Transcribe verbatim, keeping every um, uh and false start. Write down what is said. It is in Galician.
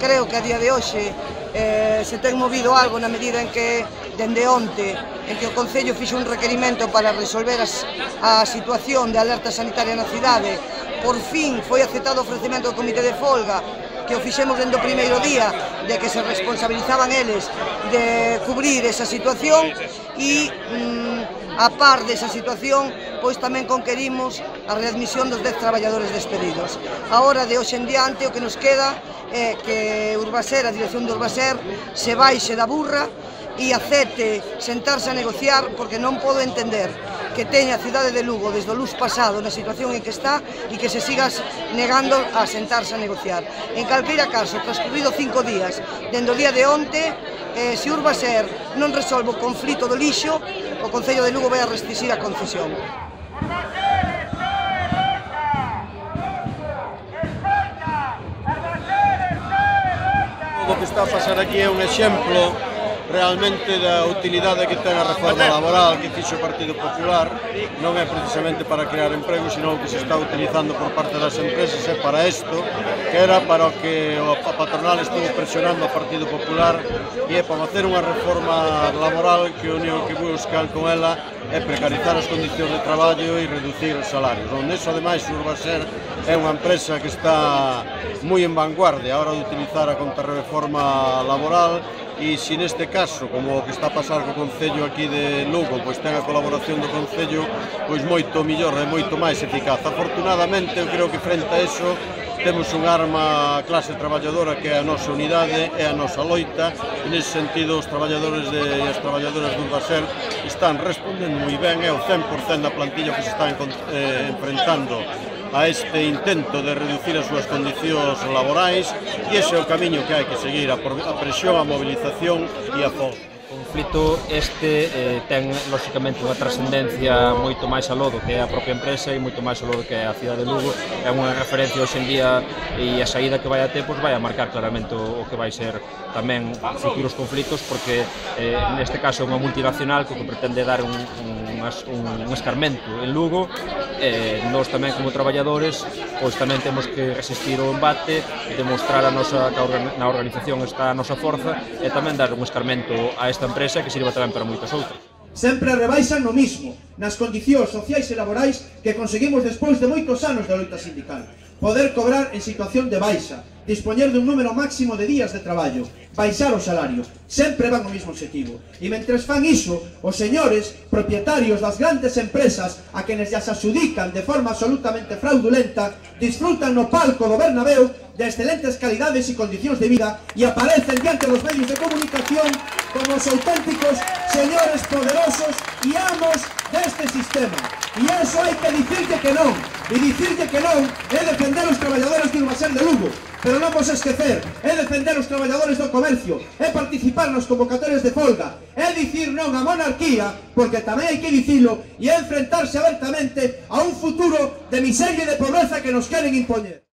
creo que a día de hoxe eh, se ten movido algo na medida en que, dende onte, en que o Concello fixo un requerimento para resolver as, a situación de alerta sanitaria na cidade. Por fin foi aceptado o ofrecemento do Comité de Folga, que o fixemos dende o primeiro día, de que se responsabilizaban eles de cubrir esa situación e, mm, a par desa situación, pois tamén conquerimos a readmisión dos dez traballadores despedidos. Ahora, de hoxe en diante, o que nos queda é que Urbaser, a dirección de Urbaser, se baixe da burra e acepte sentarse a negociar, porque non podo entender que teña a cidade de Lugo desde o luz pasado na situación en que está e que se sigas negando a sentarse a negociar. En calqueira caso, transcurrido cinco días, dende o día de onte, eh, se Urbaser non resolve o conflito do lixo, o Concello de Lugo vai a restringir a concesión. O que está a pasar aquí é un exemplo realmente da utilidade que ten a reforma laboral que fixo o Partido Popular. Non é precisamente para crear emprego, sino que se está utilizando por parte das empresas é para isto, que era para o que a patronal estuvo presionando ao Partido Popular, e é para facer unha reforma laboral que o único que buscan con ela é precarizar as condicións de traballo e reducir os salarios. Onde iso, ademais, Urbaser é unha empresa que está moi en vanguardia a hora de utilizar a contrarreforma laboral. E se neste caso, como o que está a pasar co Concello aquí de Lugo, pois ten a colaboración do Concello, pois moito millor e moito máis eficaz. Afortunadamente, eu creo que frente a eso temos un arma a clase traballadora que é a nosa unidade, é a nosa loita, e nese sentido os traballadores de, e as traballadoras do Urbaser están respondendo moi ben, é o cen por cen da plantilla que se está eh, enfrentando a este intento de reducir as súas condicións laborais, e ese é o camiño que hai que seguir, a presión, a movilización e a folga. O conflito este eh, ten, lóxicamente, unha trascendencia moito máis aló do que é a propia empresa e moito máis aló do que é a cidade de Lugo. É unha referencia hoxe en día, e a saída que vai a ter pois, vai a marcar claramente o, o que vai ser tamén futuros conflitos, porque eh, neste caso é unha multinacional que, que pretende dar un, un, un, un escarmento en Lugo. Eh, nós tamén como traballadores pois tamén temos que resistir o embate, demostrar a nosa, que na organización está a nosa forza, e tamén dar un escarmento a esta empresa que sirva tamén para moitas outras. Sempre rebaixan no mismo, nas condicións sociais e laborais que conseguimos despois de moitos anos de loita sindical. Poder cobrar en situación de baixa, dispoñer dun número máximo de días de traballo, baixar o salario, sempre van ao mesmo objetivo. E mentres fan iso, os señores propietarios das grandes empresas a quenes ya se adxudican de forma absolutamente fraudulenta, disfrutan no palco do Bernabéu de excelentes calidades e condicións de vida e aparecen diante dos medios de comunicación como os auténticos señores poderosos e amos deste sistema. E iso hai que dicirlle que non. E dicirlle que non é defender os traballadores de Urbaser de Lugo. Pero non vos esquecer, é defender os traballadores do comercio, é participar nas convocatorias de folga, é dicir non a monarquía, porque tamén hai que dicilo, e é enfrentarse abertamente a un futuro de miseria e de pobreza que nos queren impoñer.